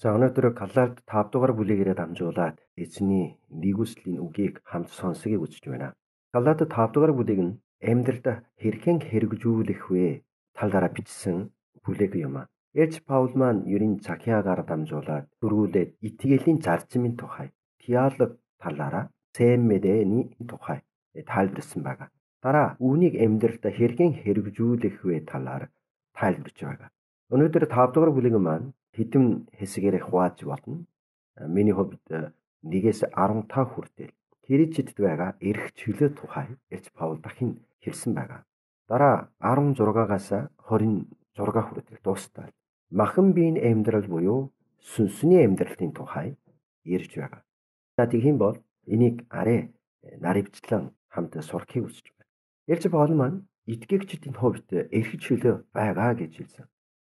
За өнөөдөр Галаалт 5 дугаар бүлэгээрээ дамжуулаад эзний нэгүслийн үгийг хамт сонсгийг үзэж байна. Галаалт 5 дугаар бүлэг нь амьдралд хэрхэн хэрэгжүүлэх вэ талаараа бичсэн бүлэг юм. Элч Паул маань ерийн Захиагаар дамжуулаад дөрвүүлээд итгэлийн зарчмын тухай, теолог талаараа сайн мэдээний тухай тайлбарсан байна. Дараа үүнийг амьдралд хэрхэн хэрэгжүүлэх вэ талаар тайлбарж байгаа. Өнөөдөр 5 дугаар бүлэг маань хэдэн хэсгээр хувааж болно. Миний хувьд 1-ээс 15 хүртэл Христэд байгаа эрх чөлөө тухай Элч Паул дахин хэлсэн байгаа. Дараа 16-аас 26 хүртэл дуустал махан биеийн амьдрал буюу сүнсний амьдралын тухай ярьж байгаа. За тийм бол энийг арай наривчлан хамт сурахыг хүсэж байна. Элч Паул маань итгэгчдийн хувьд эрх чөлөө байгаа гэж хэлсэн.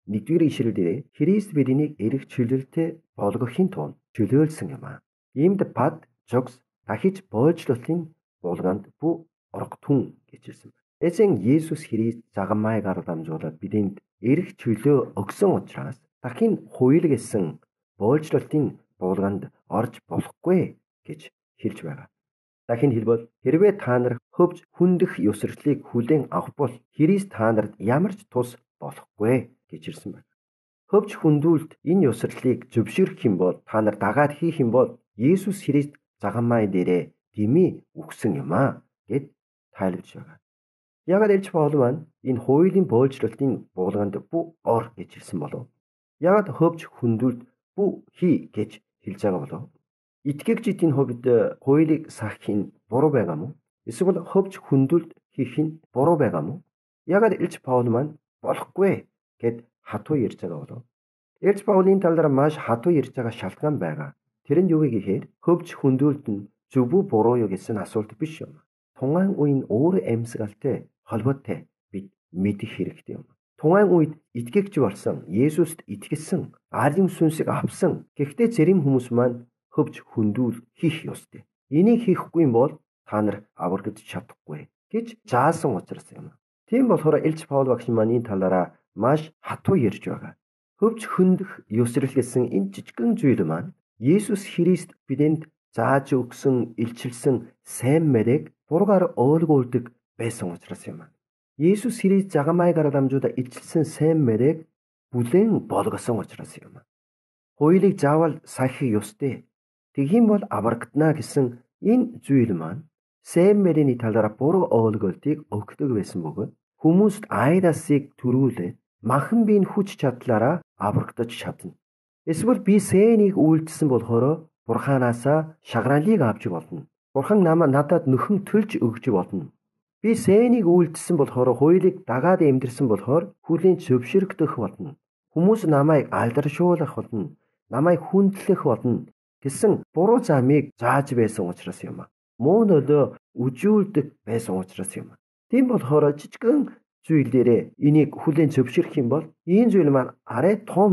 Нэгдүгээр ишлэл дээр Христ биднийг эрх чөлөөлтэй болгохын тулд чөлөөлсөн юм аа. Иймд бад жогс дахиж боолжлолтын булганд бүү орготун гэж хэлсэн байна. Эзэн Есүс Христ загмайгаар дамжуулаад бидэнд эрх чөлөө өгсөн учраас дахин хуйл гэсэн боолжлолтын булганд орж болохгүй гэж хэлж байгаа. Дахин хэлбэл хэрвээ та нар хөвж хүндэх ёсролтыг хүлээн авах бол Христ та нарт ямар ч тус болохгүй гэж хэлсэн байна. Хөвж хүндүүлэлт энэ ёсролтыг зөвшөөрөх юм бол та нар дагаад хийх юм бол Есүс Христ загмай дээрээ дэмий өгсөн юм аа гэд тайлбарж байгаа. Яагаад Элч Паул маань энэ хуулийн боолжлолтын булганд бүү ор гэж хэлсэн болов? Яагаад хөвж хүндүүлэлт бүү хий гэж хэлж байгаа болов? Итгэгчдийн хувьд хуулийг сахих нь буруу байгаа мó? Эсвэл хөвж хүндүүлэлт хийх нь буруу байгаа мó? Яагаад Элч Паул маань болохгүй гэд хатуу ярьж байгаа болов? Элч Паулийн талаар маш хатуу ярьж байгаа шалтгаан байгаа. Тэр нь юу гэхээр хөвж хүндүүлэлт нь зөв үү буруу юу гэсэн асуулт биш юм. Тунгаан үеийн өөр амьсгалтай холбоотой бид мэдэх хэрэгтэй юм. Тунгаан үед итгэгч болсон, Есүст итгэсэн, Ариун сүнсийг авсан. Гэхдээ зарим хүмүүс маань хөвж хүндүүл хийх ёстой. Энийг хийхгүй юм бол та нар аврагдаж чадахгүй гэж заасан учраас юм. Тийм болохоор Элч Паул багш маань энэ талаараа маш хатуу ярьж байгаа. Хөвж хүндэх ёсрол гэсэн энэ жижигхэн зүйл маань Есүс Христ бидэнд зааж өгсөн, илчилсэн сайн мэрээг буруугаар ойлгуулдаг байсан учраас юм. Есүс Христ загмайгаар дамжуулаад илчилсэн сайн мэрээг бүлээн болгосон учраас юм. Хуулийг заавал сахих ёстой. Тэгхийн бол аврагдана гэсэн энэ зүйл маань сайн мэрийн талаараа буруу ойлголтыг өгдөг байсан бөгөөд хүмүүст айдасыг төрүүлээд махан биеийн хүч чадлаараа аврагдаж чадна. Эсвэл би сэнийг үйлдэлсэн болохоор Бурханаасаа шагналыг авч болно. Бурхан надад нөхөн төлж өгч болно. Би сэнийг үйлдэлсэн болохоор хуулийг дагаад амьдрсан болохоор хүлийн зөвшөөрөгдөх болно. Хүмүүс намайг алдаршуулах болно. Намайг хүндлэх болно гэсэн буруу замыг зааж байсан учраас юм. Муу нөлөө үжүүлдэг байсан учраас юм. Тийм болохоор жижигхэн зүйлээрээ энийг хүлээн зөвшөөрөх юм бол энэ зүйл маань арай том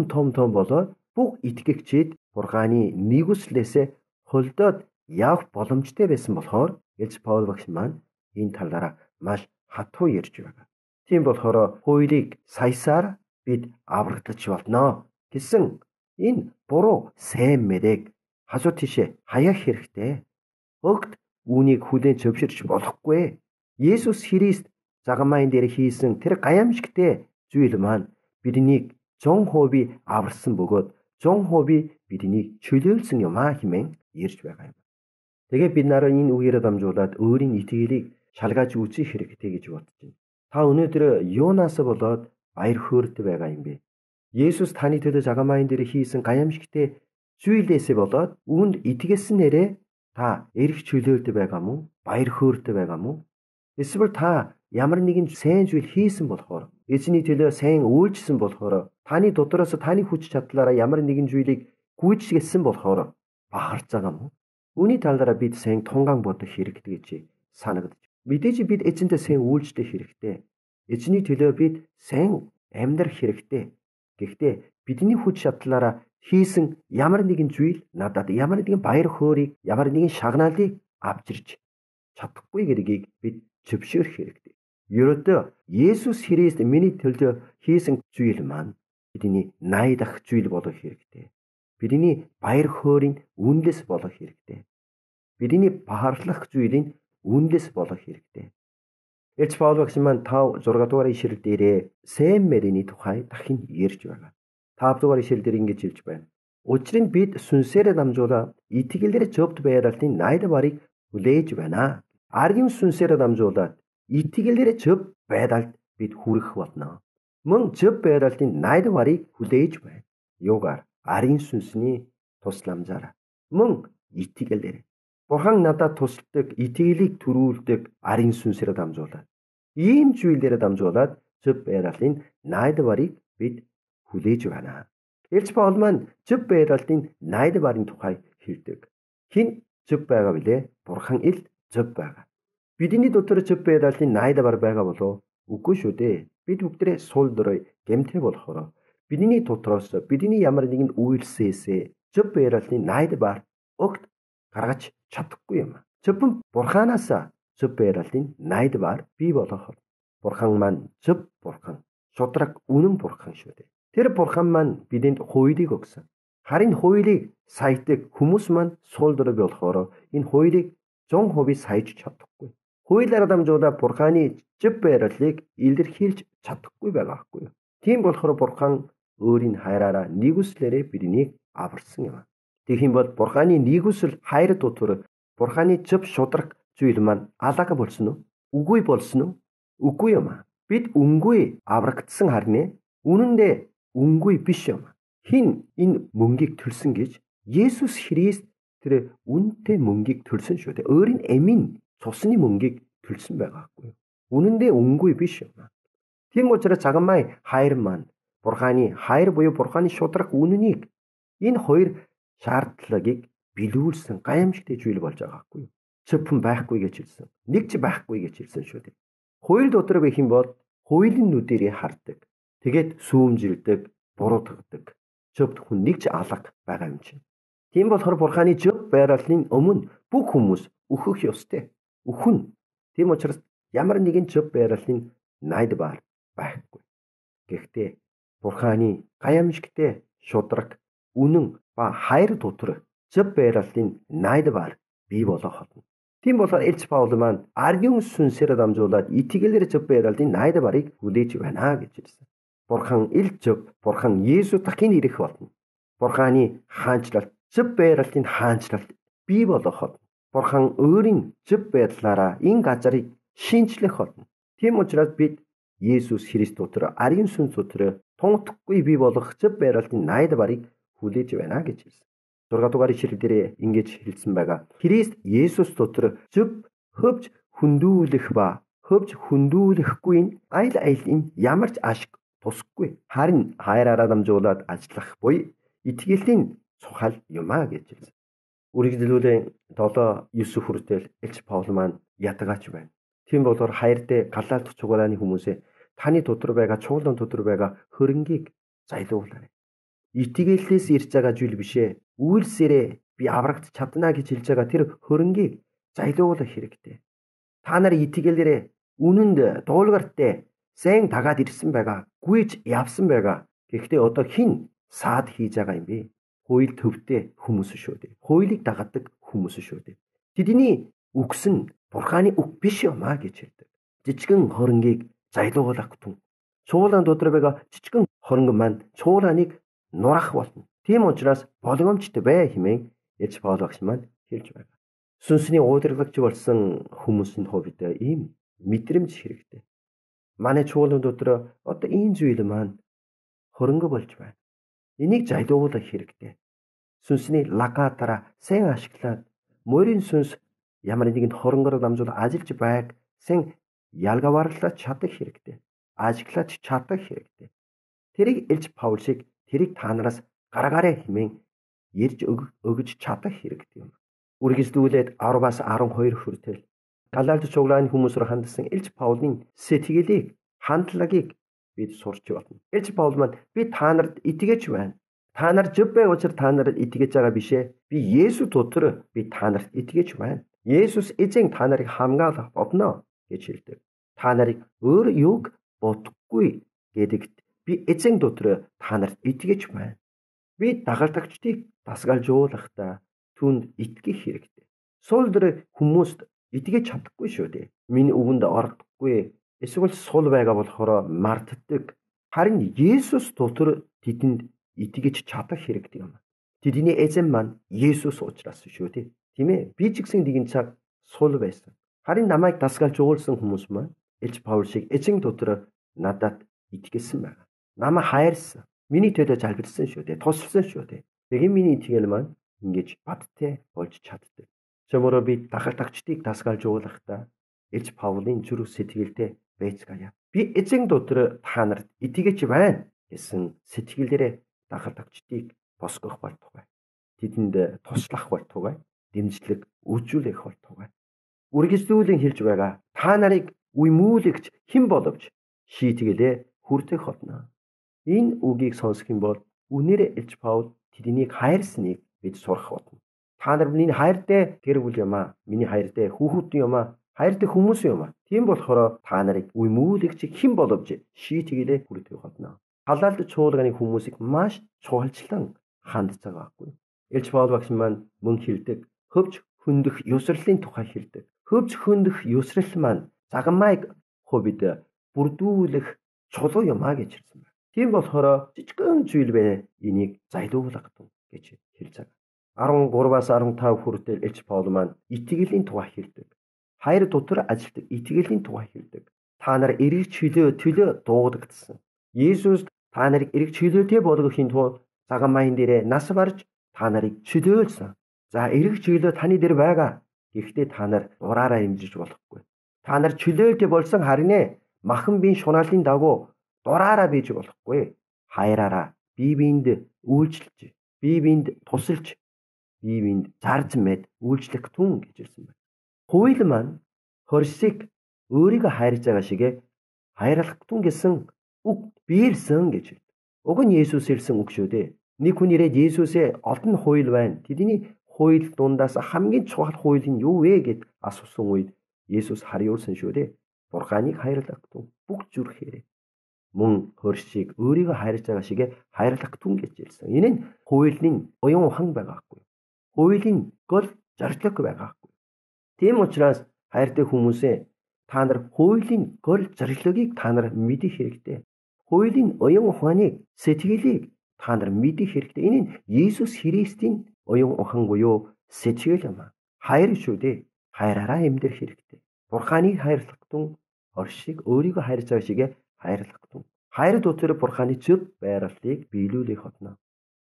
болоод бүх итгэгчид Бурханы нэгүслээсээ холдоод явах боломжтой байсан болохоор Элч Паул багш маань энэ талаараа маш хатуу ярьж байгаа. Тийм болохоор хуулийг саясаар бид аврагдаж болно гэсэн энэ буруу сайн мэрээг хажуу тийшээ хаяах хэрэгтэй. Огт үүнийг хүлээн зөвшөөрч болохгүй. Есүс Христ загмайн дээр хийсэн тэр гайхамшигтай зүйл маань биднийг 100% аварсан бөгөөд 100% биднийг чөлөөлсөн юм аа хэмээн ярьж байгаа юм. Тэгээ бид нараа энэ үгээрээ дамжуулаад өөрийн итгэлийг шалгаж үзэх хэрэгтэй гэж бодож байна. Та өнөөдөр юунаас болоод баяр хөөртэй байгаа юм бэ? Есүс таны төлөө загмайн дээр хийсэн гайхамшигтай зүйлээсээ болоод үүнд итгэлсэн нэрээ та эрх чөлөөлтэй байгаа мó? Баяр хөөртэй байгаа мó? Эсвэл та ямар нэгэн сайн зүйл хийсэн болохоор эзний төлөө сайн үйлчилсэн болохоор таны дотроос таны хүч чадлаараа ямар нэгэн зүйлийг гүйцэтгсэн болохоор бахарч байгаа мó? Үүний талаараа бид сайн тунгаан бодох хэрэгтэй гэж санагдаж. Мэдээж бид эзэнтэй сайн үйлчлэх хэрэгтэй. Эзний төлөө бид сайн амьдрах хэрэгтэй. Гэхдээ бидний хүч чадлаараа хийсэн ямар нэгэн зүйл надад ямар нэгэн баяр хөөргийг, ямар нэгэн шагналыг авчирч чадахгүй гэдгийг бид зөвшөөрөх хэрэгтэй. Ерөөдөө Есүс Христ миний төлөө хийсэн зүйл маань бидний найдах зүйл болох хэрэгтэй. бидний баяр хөөрийн үнэлэс болох хэрэгтэй. Бидний бахархлах зүйлийн үнэлэс болох хэрэгтэй. Элч Паул багш маань 5 6 дугаар ишлэл дээрээ Сэм Мэриний тухай дахин ярьж байгаа. 5 дугаар ишлэл дээр ингэж хэлж байна. Учир нь бид сүнсээрээ дамжуулаад итгэлээр зөвд байралтын найд барыг хүлээж байна. Аргийн сүнсээрээ дамжуулаад итгэлээр зөв байдалд бид хүрэх болно. Мөн зөв байралтын найд барыг хүлээж байна. Юугаар? Арийн сүнсний тусламжаар. Мөн итгэлээр. Бурхан надад тусалдаг, итгэлийг төрүүлдэг арийн сүнсээр дамжуулаад. Ийм зүйлээр дамжуулаад зөв байралтын найд барыг бид хүлээж байна. Элч Паул маань зөв байралтын найд барын тухай хэлдэг. Хэн зөв байгаа вүлээ? Бурхан ил зөв байгаа. Бидний дотор зөв байралтын найд бар байгаа болов? Үгүй шүү дээ. Бид бүгдээ сул дорой гэмтэй болохоор бидний дотроос бидний ямар нэгэн үйлсээс зөв байралтын найд бар огт гаргаж чадахгүй юм. Зөвхөн Бурханаас зөв байралтын найд бар бий болох. Бурхан маань зөв Бурхан, шудраг үнэн Бурхан шүү дээ. Тэр Бурхан маань бидэнд хуулийг өгсөн. Харин хуулийг саятдаг хүмүүс маань сул дорой болохоор энэ хуулийг 100% саяж чадахгүй. Хуулиар дамжуулаад Бурханы зөв байралыг илэрхийлж чадахгүй байгаа байхгүй юу? Тийм болохоор Бурхан өөрийн хайраараа нэгүслээрээ биднийг аварсан юм. Тэгэх юм бол Бурханы нэгүсэл хайр дотор Бурханы зөв шудраг зүйл маань алга болсон уу? Үгүй болсон уу? Үгүй юм. Бид үнгүй аврагдсан харнэ. Үнэндээ үнгүй биш юм. Хин энэ мөнгийг төлсөн гэж Есүс Христ тэр үнэтэй мөнгийг төлсөн шүү дээ. Өөрийн эмийн цусны мөнгийг төлсөн байгаа байхгүй юу? Үнэндээ үнгүй биш юм. Тийм учраас цагаамай хайр маань Бурханы хайр буюу Бурханы шудраг үнэнийг энэ хоёр шаардлагыг билүүлсэн гайхамшигтай зүйл болж байгаа байхгүй юу? Зөвхөн байхгүй гэж хэлсэн. Нэг ч байхгүй гэж хэлсэн шүү дээ. Хууль дотор гэх юм бол хуулийн нүдэрээ хардаг. Тэгээд сүүмжилдэг, бурууддаг. Зөвхөн нэг ч алга байгаа юм чинь. Тийм болохоор Бурханы зөв байралын өмнө бүх хүмүүс өөхөх ёстой. Өхөн. Тийм учраас ямар нэгэн зөв байралын найд бар байхгүй. Гэхдээ Бурханы гайхамшигтай шудраг үнэн ба хайр дотор зөв байралтын найд бар бий болох болно. Тийм болохоор Элч Паул маань аргийн сүнсээр дамжуулаад итгэлээр зөв байралтын найд барыг хүлээж байна гэж хэлсэн. Бурхан ил зөв, Бурхан Есүс дахин ирэх болно. Бурханы хаанчлалт, зөв байралтын хаанчлалт бий болох болно. Бурхан өөрийн зөв байдлаараа энэ газарыг шинчлэх болно. Тийм учраас бид Есүс Христ дотор арийн сүнс дотор тунхдахгүй бий болох зөв байралтын найд барыг хүлээж байна гэж хэлсэн. 6 дугаар ишлэл дээр ингэж хэлсэн байгаа. Христ Есүс дотор зөв хөвж хөндүүлэх ба хөвж хөндүүлэхгүй аль алин ямар ч ашиг тусахгүй. Харин хайраараа дамжуулаад ажиллах буй итгэлтийн цухал юмаа гэж хэлсэн. Үргэлжлүүлэн 7-9 хүртэл Элч Паул маань ятгаач байна. Тийм болохоор хайртай галаалт чугарааны хүмүүсээ таны дотор байгаа чуулган дотор байгаа хөрөнгийг зайлуулаарай. Итгэлээс ирж байгаа зүйл бишээ. Үйлсээрээ би аврагт чадна гэж хэлж байгаа тэр хөрөнгийг зайлуулах хэрэгтэй. Та нар итгэлээрээ үнэнд дуулгартай сайн дагаад ирсэн байгаа. Гүйж явсан байгаа. Гэхдээ одоо хэн саад хийж байгаа юм бэ? Хууль төвтэй хүмүүс шүү дээ. Хуулийг дагадаг хүмүүс шүү дээ. Тэдний үгс нь Бурханы үг биш юм аа гэж хэлдэг. Жижигэн хөрөнгийг зайлуулах түн. Чуулган дотор байгаа жижигэн хөрөнгө маань чуулганыг нурах болно. Тийм учраас болгоомжтой бай хэмээн Элч Паул багш маань хэлж байна. Сүнсний удирдлагч болсон хүмүүсийн хувьд ийм мэдрэмж хэрэгтэй. Манай чуулган дотор одоо ийм зүйл маань хөрөнгө болж байна. Энийг зайлуулах хэрэгтэй. Сүнсний лагаатара сайн ашиглаад морин сүнс ямар нэгэн хөрөнгөөр дамжуул ажиллаж байг сайн ялгаварлаж чадах хэрэгтэй. Ажиглаж чадах хэрэгтэй. Тэрийг Элч Паул шиг тэрийг та нараас гаргаарай хэмээн ярьж өгж чадах хэрэгтэй юм. Үргэлжлүүлээд 10-аас 12 хүртэл Галаалт чуулганы хүмүүсээр хандсан Элч Паулын сэтгэлийг, хандлагыг бид сурч байна. Элч Паул маань би та нарт итгэж байна. Та нар зөв байх учраас та нарт итгэж байгаа бишээ. Би Есүс дотор би та нарт итгэж байна. Есүс эзэн та нарыг хамгаалах болно гэж хэлдэг. Та нарыг өөр юг бодохгүй гэдэгт би эзэн дотор та нарт итгэж байна. Би дагалдагчдыг дасгалжуулахдаа түүнд итгэх хэрэгтэй. Сул дээр хүмүүст итгэж чадахгүй шүү дээ. Миний үгэнд ордоггүй. Эсвэл сул байгаа болохоор мартдаг. Харин Есүс дотор тэдэнд итгэж чадах хэрэгтэй юм. Тэдний эзэн маань Есүс учраас шүү дээ. Тийм ээ. Би ч гэсэн нэгэн цаг сул байсан. Харин намайг дасгалжуулсан хүмүүс маань Илж Паул шиг эзэн дотор надад итгэсэн байна. Намайг хайрсан. Миний төлөө залбирсан шүү дээ. Тусалсан шүү дээ. Тэгэхээр миний итгэл маань ингэж бадтай болж чаддаг. Чөмөрөө би дагалдагчдыг дасгалжуулахдаа Илж Паулын зүрх сэтгэлдээ байцгаая. Би эзэн дотор та нарт итгэж байна гэсэн сэтгэлээрээ дагалдагчдыг босгох болтугай. Тэдэнд туслах болтугай. Дэмжлэг үйлчлэх болтугай. Үргэлжлүүлэн хэлж байгаа та нарыг уймуулагч хэн боловч шийтгэлээ хүртэх болно. Энэ үгийг сонсох юм бол үнээрээ Илж Паул тэднийг хайрсныг бид сурах болно. Та нар миний хайртай гэр бүл юм аа. Миний хайртай хүүхэд юм аа. Хайртай хүмүүс юм аа. Тийм болохоор та нарыг уймуулагч хэн боловч шийтгэлээ хүртэх болно. Халаалт чуулганы хүмүүсийг маш чухалчлан хандж байгаа байхгүй. Илж Паул багш маань мөн хэлдэг хөвч хөндөх ёсрлын тухай хэлдэг. Хөвч хөндөх ёсрал маань загмайг хувьд бүрдүүлэх чулуу юм а гэж хэлсэн байна. Тийм болохоор жижигхэн зүйл бэ энийг зайлуулах гэж хэлж байгаа. 13-аас 15 хүртэл Илж Паул маань итгэлийн тухай хэлдэг. Хайр дотор ажилтдаг итгэлийн тухай хэлдэг. Та нар эрэг төлөө дуудагдсан. Есүс та нарыг эрэг чөлөөтэй болгохын тулд загмайн дээрээ нас барж та нарыг чөлөөлсөн. За эрэг чөлөө таны дээр байгаа. Гэхдээ та нар дураараа имжиж болохгүй. Та нар чөлөөлтэй болсон харин махан биеийн шунаалын дагуу дураараа бийж болохгүй. Хайраараа бие биенд үйлчлж, бие биенд тусалж, бие биенд зарж мэд үйлчлэх түн гэж хэлсэн байна. Хууль маань хорсыг өөрийгөө хайрж байгаа шиг хайрлах түн гэсэн үг биелсэн гэж хэлдэг. Уг нь Есүс хэлсэн үг шүү дээ. Нэг хүн ирээд Есүсээ олон хууль байна. Тэдний хууль дундаас хамгийн чухал хууль нь юу вэ гэд асуусан үед Есүс хариулсан шүү дээ. Бурханыг хайрлах түн бүх зүрхээрээ мөн хоршиг өөрийгөө хайрж байгаа шиг хайрлах түн гэж хэлсэн. Энэ нь хуулийн оюун ухаан байгаа хгүй. Хуулийн гол зорилго байгаа хгүй. Тийм учраас хайртай хүмүүсээ та нар хуулийн гол зорилгыг та нар мэдэх хэрэгтэй. Хуулийн оюун ухааныг сэтгэлийг та нар мэдэх хэрэгтэй. Энэ нь Есүс Христийн оюун ухаан буюу сэтгэл юм. Хайр шүү дээ. Хайраараа амьдрах хэрэгтэй. Бурханыг хайрлах түн оршиг өөрийгөө хайрж байгаа шиг хайрлах түн. Хайр дотор Бурханы зөв байрлалыг биелүүлэх болно.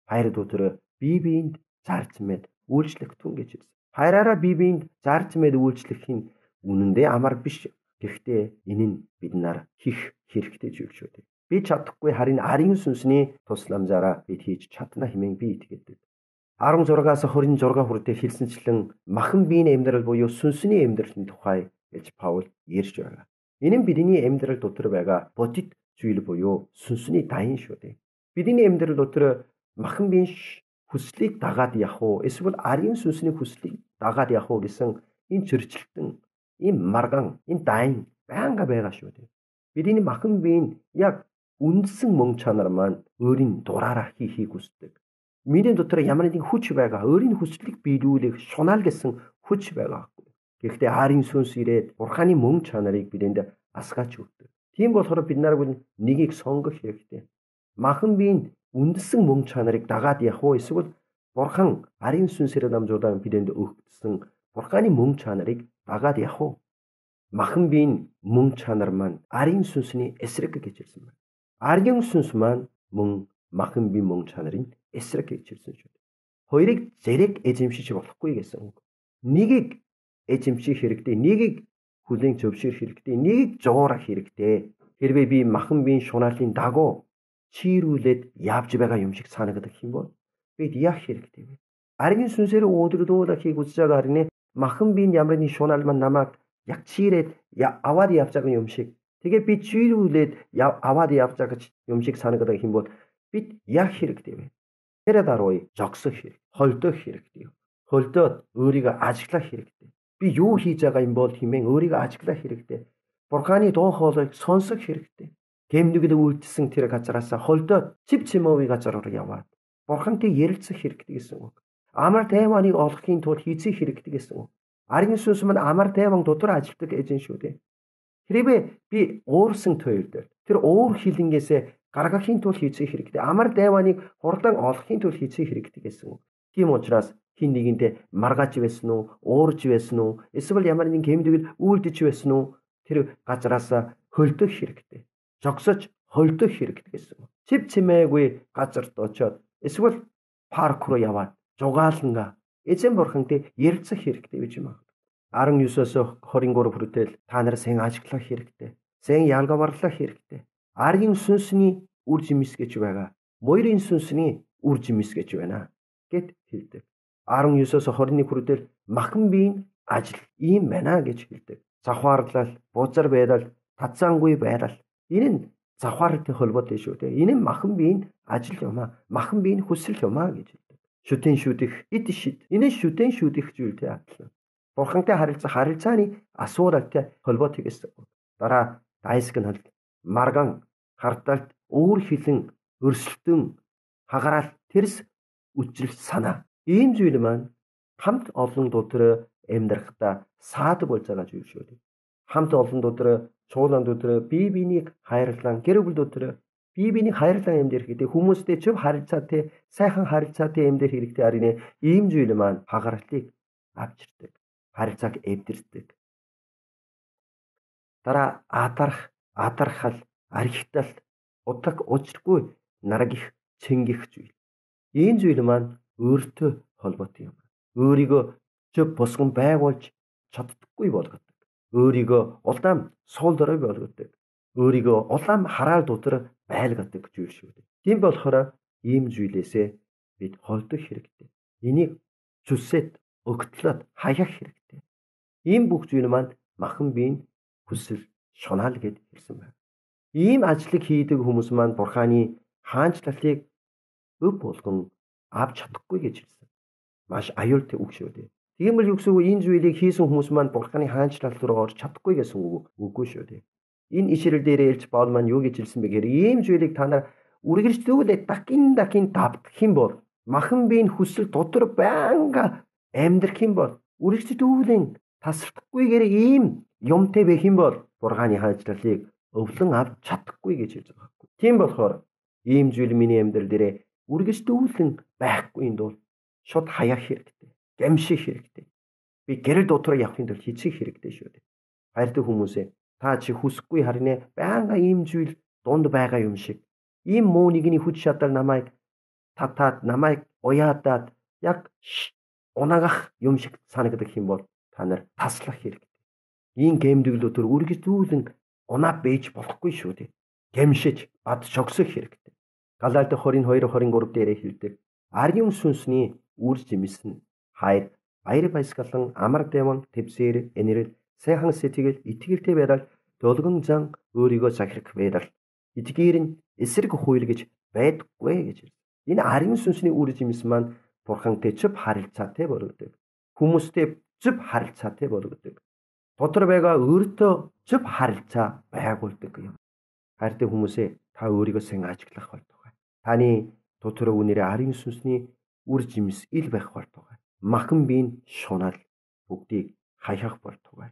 Хайр дотор бие биенд зарж мэд үйлчлэх түн гэж хэлсэн. Хайраараа бие биенд зарж мэд үйлчлэх нь үнэндээ амар биш. Гэхдээ энэ нь бид нар хийх хэрэгтэй зүйл шүү дээ. Би чадахгүй харин арын сүнсний тусламжаараа бид хийж чадна хэмээн би итгэдэг. 16-аас 26 хүртэл хэлсэнчлэн махан биеийн амьдрал буюу сүнсний амьдралын тухай гэж Паул ярьж байгаа. Энэ нь бидний амьдрал дотор байгаа бодит зүйл буюу сүнсний дайн шүү дээ. Бидний амьдрал дотор махан биеийн хүслийг дагаад явах уу эсвэл арын сүнсний хүслийг дагаад явах уу гэсэн энэ зөрчилтөн, энэ марган, энэ дайн байнга байгаа шүү дээ. Бидний махан бие нь яг үндсэн мөн чанар маань өөрийн дураараа хийхийг хүсдэг. Миний дотор ямар нэгэн хүч байгаа, өөрийн хүслийг биелүүлэх шунаал гэсэн хүч байгаа. Гэхдээ арын сүнс ирээд Бурханы мөн чанарыг бидэнд асгаач өгдөг. Тийм болохоор бид нар нэгийг сонгох хэрэгтэй. Махан биеийн үндсэн мөн чанарыг дагаад явах уу эсвэл Бурхан арын сүнсээр дамжуулан бидэнд өгсөн Бурханы мөн чанарыг дагаад явах уу? Махан биеийн мөн чанар маань арын сүнсний эсрэг гэж хэлсэн байна. Арын сүнс маань мөн махан биеийн мөн чанарын эсрэг гэж хэлсэн шүү дээ. Хоёрыг зэрэг эзэмшиж болохгүй гэсэн үг. Нэгийг эзэмших хэрэгтэй, нэгийг хүлээн зөвшөөрөх хэрэгтэй, нэгийг зуурах хэрэгтэй. Хэрвээ би махан биеийн шунаалын дагуу чиирүүлээд явж байгаа юм шиг санагдах юм бол бид яах хэрэгтэй вэ? Арын сүнсээр өдрөдүүлэхийг үзэж байгаа харин махан биеийн ямар нэгэн шунаал маань намайг яг чиирээд аваад явж байгаа юм шиг. Тэгээ би чиирүүлээд аваад явж байгаа юм шиг санагдах юм бол бид яах хэрэгтэй вэ? Тэр даруй зогсох хэрэг, холдох хэрэгтэй. Холдоод өөрийгөө ажиглах хэрэгтэй. Би юу хийж байгаа юм бол хэмээн өөрийгөө ажиглах хэрэгтэй. Бурханы дуу хоолойг сонсох хэрэгтэй. Гэмнүгэл үйлдэлсэн тэр газараас холдоод цэв цэмовын газар руу яваад Бурхантай ярилцах хэрэгтэй гэсэн үг. Амар тайваныг олохын тулд хийцэх хэрэгтэй гэсэн үг. Ариун сүнс маань амар тайван дотор ажилладаг гэж шүү дээ. Хэрвээ би уурсан туйлд тэр уур хилэнгээсээ гаргахын тулд хийцэх хэрэгтэй. Амар тайваныг хурдан олохын тулд хийцэх хэрэгтэй гэсэн үг. Тийм учраас хин нэгэндээ маргаж байсан уу, уурж байсан уу, эсвэл ямар нэгэн гэмтгэл үйлдэж байсан уу, тэр газараас хөлдөх хэрэгтэй. Жогсож холдох хэрэгтэй гэсэн үг. Цэв цэмээгүй газарт очиод эсвэл парк руу яваад жугаалнга эзэн бурхантай ярилцах хэрэгтэй гэж юм аа. 19-оос 23 хүртэл та нар сэн ажиглах хэрэгтэй. Сэн ялгаварлах хэрэгтэй. Ариун сүнсний үр жимс гэж байгаа. Моёрын сүнсний үр жимс гэж байна гэд хэлдэг. 19-оос 21 хүртэл махан биеийн ажил ийм байна гэж хэлдэг. Завхаарлал, бузар байдал, татсангүй байдал. Энэ нь завхаартай холбоотой шүү дээ. Энэ нь махан биеийн ажил юм аа. Махан биеийн хүсэл юм аа гэж хэлдэг. Шүтэн шүдэх, ид шид. Энэ шүтэн шүдэх зүйлтэй адилхан. Бурхантай харилцах харилцааны асуудалтай холбоотой гэсэн. Дараа дайсагнал, марган, хардалт, өвөр хилэн, өрсөлдөн, хагараал, тэрс үчрэл санаа. Ийм зүйл маань хамт олон дотор амьдрахдаа саад болж байгаа зүйл шүү дээ. Хамт олон дотор, чуулган дотор бие биенийг хайрлан, гэр бүл дотор бие биенийг хайрлан амьдрах гэдэг хүмүүстэй зөв харилцаатай, сайхан харилцаатай амьдрах хэрэгтэй арина. Ийм зүйл маань хагаарлыг авчирдаг. Харилцааг эвдэрдэг. Дараа адархал, архитал, удаг учиргүй наргих, цэнгих зүйл. Ийм зүйл маань өөртөө холбоотой юм. Өөрийгөө зөв босгон байгуулж чаддаггүй болгодог. Өөрийгөө улаан суул дорой болгодог. Өөрийгөө улаан хараал дотор байлгадаг зүйл шүү дээ. Тийм болохоор ийм зүйлээсээ бид холдох хэрэгтэй. Энийг зүсэд өгтлөд хаях хэрэгтэй. Ийм бүх зүйл маань махан биеийн хүсэл шунаал гэд хэлсэн байна. Ийм ажлыг хийдэг хүмүүс маань бурханы хаанчлалыг өв болгон авч чадахгүй гэж хэлсэн. Маш аюултай үг шүү дээ. Тиймэр югсгүй энэ зүйлийг хийсэн хүмүүс маань бурханы хаанчлал руу орж чадахгүй гэсэн үг үгүй шүү дээ. Энэ ишрэл дээр элч Паул маань юу гэж хэлсэн бэ гэхээр ийм зүйлийг та нар үргэлжлүүлээд дахин давтах юм бол махан биеийн хүсэл дотор байнга амьдрах юм бол үргэлжлүүлэн тасралтгүйгээр ийм юмтай байх юм бол бурханы хаанчлалыг өвлөн авч чадахгүй гэж хэлж байгаа байхгүй. Тийм болохоор ийм зүйл миний амьдрал дээр үргэлжлүүлэн байхгүй юм бол шууд хаях хэрэгтэй. Гэмших хэрэгтэй. Би гэрэл дотроо явахын тулд хийцэх хэрэгтэй шүү дээ. Хайртай хүмүүсээ та чи хүсэхгүй харин байнга ийм зүйл дунд байгаа юм шиг. Ийм муу нэгний хүч чадал намайг татаад намайг уяадаад яг унагах юм шиг санагдах юм бол та нар таслах хэрэгтэй. Ийм гэмдэглүүдээр үргэлжлүүлэн унаа бэж болохгүй шүү дээ. Гэмшиж бад шогсох хэрэгтэй. Галаалт 22-23 дээр хэлдэг. Ариун сүнсний үр жимс нь хайр, баяр баясгалан, амар тайван, твсэр, энэрэл, сайхан сэтгэл, итгэлтэй байдал, долгон зан, өөрийгөө захирах байдал. Эдгээр нь эсрэг хууль гэж байдаггүй гэж хэлсэн. Энэ ариун сүнсний үр жимс маань бурхантай зөв харилцаатай болгодог. Хүмүүстэй зөв харилцаатай болгодог. Дотор байгаа өөртөө зөв харилцаа байгуулдаг юм. Хайртай хүмүүсээ та өөрийгөө сайн ажиглах болтугай. Таны дотор үнээрээ ариун сүнсний үр жимс ил байх болтугай. Махан биеийн шунаал бүгдийг хаях болтугай.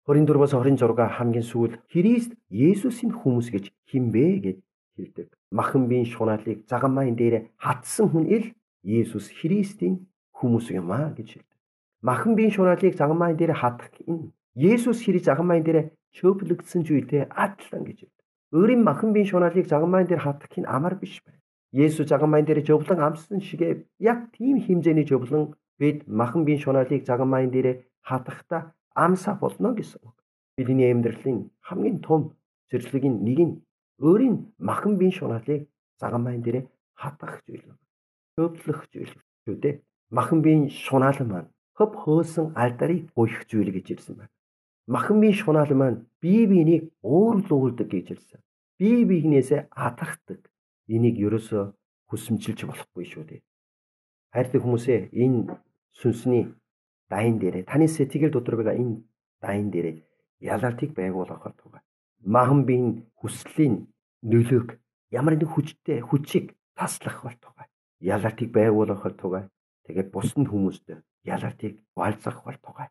24-оос 26 хамгийн сүүл Христ Есүсийн хүмүүс гэж хинбэ гэж хэлдэг. Махан биеийн шунаалыг загамайн дээр хатсан хүн ил Есүс Христийн хүмүүс юм аа гэж хэлдэг. Махан биеийн шунаалыг загамайн дээр хатах энэ Есүс Христ загамайн дээр чөплөгдсөн зүйлтэй адилхан гэж хэлдэг. Өөрийн махан биеийн шунаалыг загамайн дээр хатах нь амар биш байна. Есүс загамайн дээр жовлон амссан шигээ яг тийм хэмжээний жовлон бид махан биеийн шунаалыг загамайн дээр хатахдаа амсаа болно гэсэн үг. Бидний амьдралын хамгийн том зэрлэгийн нэг нь өөрийн махан биеийн шунаалыг загамайн дээр хатах зүйл. Чөплөх зүйл шүү дээ. Махан биеийн шунаал маань хөв хөөсөн алдарыг гуйх зүйл гэж хэлсэн байна. Махан биеийн шунаал маань бие биенийг уурлуулдаг гэж хэлсэн. Бие биенээсээ атархдаг. Энийг ерөөсөө хүсэмжилж болохгүй шүү дээ. Хайртай хүмүүсээ энэ сүнсний дайн дээр таны сэтгэл дотор байгаа энэ дайн дээр ялалтыг байгуулах болтугай. Махан биеийн хүслийн нөлөөг ямар нэг хүчтэй хүчийг таслах болтугай. ялалтыг байгуулах бол тугай. Тэгээд бусад хүмүүстэй ялалтыг хуваалцах бол тугай.